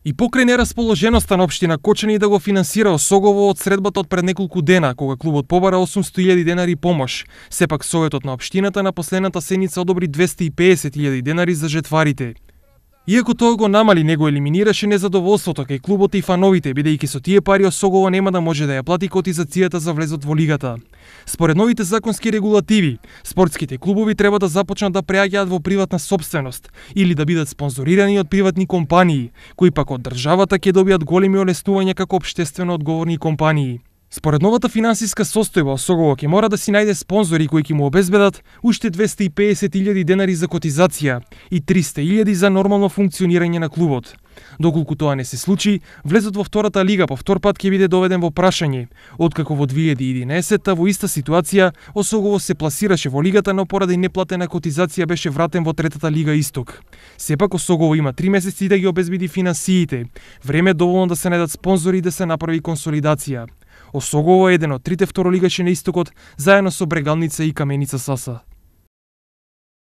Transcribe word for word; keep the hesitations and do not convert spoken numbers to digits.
И покрај нерасположеноста на општина Кочани да го финансира Осогово од средбата од пред неколку дена, кога клубот побара осумстотини илјади денари помош, сепак Советот на општината на последната седница одобри двесте и педесет илјади денари за жетварите. Иако тоа го намали, него елиминираше незадоволството кај клубот и фановите, бидејќи со тие пари Осогово нема да може да ја плати котизацијата за влезот во лигата. Според новите законски регулативи, спортските клубови треба да започнат да преаѓаат во приватна сопственост или да бидат спонзорирани од приватни компании, кои пак од државата ќе добијат големи олеснувања како општествено одговорни компании. Според новата финансиска состојба, Осогово ќе мора да си најде спонзори кои ќе му обезбедат уште двесте и педесет илјади денари за котизација и триста илјади за нормално функционирање на клубот. Доколку тоа не се случи, влезот во втората лига по втор пат ќе биде доведен во прашање, откако во две илјади и единаесетта во иста ситуација Осогово се пласираше во лигата, но поради неплатена котизација беше вратен во третата лига Исток. Сепак Осогово има три месеци да ги обезбеди финансиите. Време доволно да се најдат спонзори и да се направи консолидација. Осогово е еден од трите второлигаши на Истокот, заедно со Брегалница и Каменица Саса.